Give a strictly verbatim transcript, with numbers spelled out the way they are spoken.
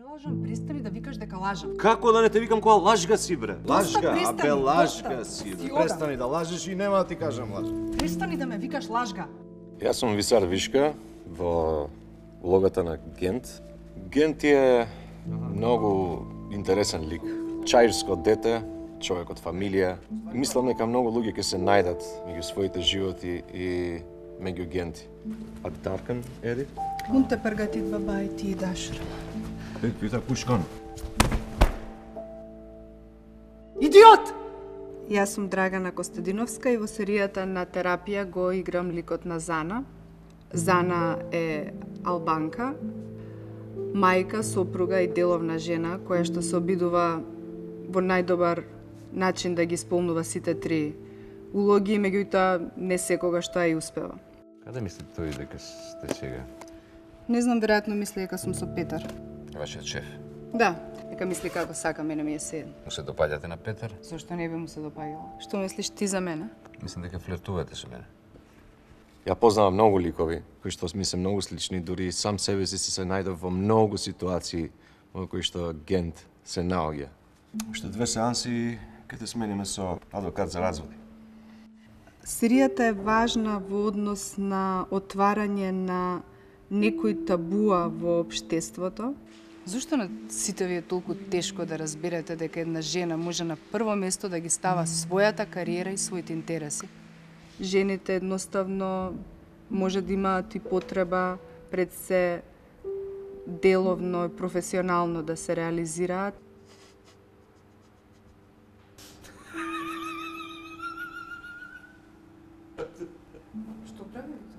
Не лажам, престани да викаш дека лажам. Како да не те викам кога лажга си, бре? Лажга, престани, абе лажга доста. си, Си бе. одам. Престани да лажеш и нема да ти кажам лажга. Престани да ме викаш лажга. Јас сум Висар Вишка во улогата на Гент. Гент е многу интересен лик. Чаирско дете, човек од фамилија. И мислам дека многу луѓе ќе се најдат меѓу своите животи и меѓу Генти. А Даркан, Еди? Он те пргатит баба и ти идаш. Е, пита пушкан. Идиот! Јас сум Драгана Костадиновска и во серијата на терапија го играм ликот на Зана. Зана е албанка, мајка, сопруга и деловна жена која што се обидува во најдобар начин да ги исполнува сите три улоги, меѓутоа не секогаш тоа и успева. Каде мисли тој дека сте сега? Не знам, веројатно мисли дека сум со Петар. Вашиот шеф. Да, дека мисли како сака, мене ми е седен. Му се допаѓате на Петар? Зошто не би му се допаѓало? Што мислиш ти за мене? Мислам дека флиртувате со мене. Ја познавам многу ликови, кои што ми се многу слични, дури и сам себе си се најдов во многу ситуации во кои што Гент се наоѓа. Уште две сеанси ќе те смениме со адвокат за разводи. Серијата е важна во однос на отварање на некои табуа во општеството. Зошто на сите ви е толку тешко да разберете дека една жена може на прво место да ги става својата кариера и своите интереси? Жените едноставно може да имаат и потреба пред се деловно и професионално да се реализираат. Што правите?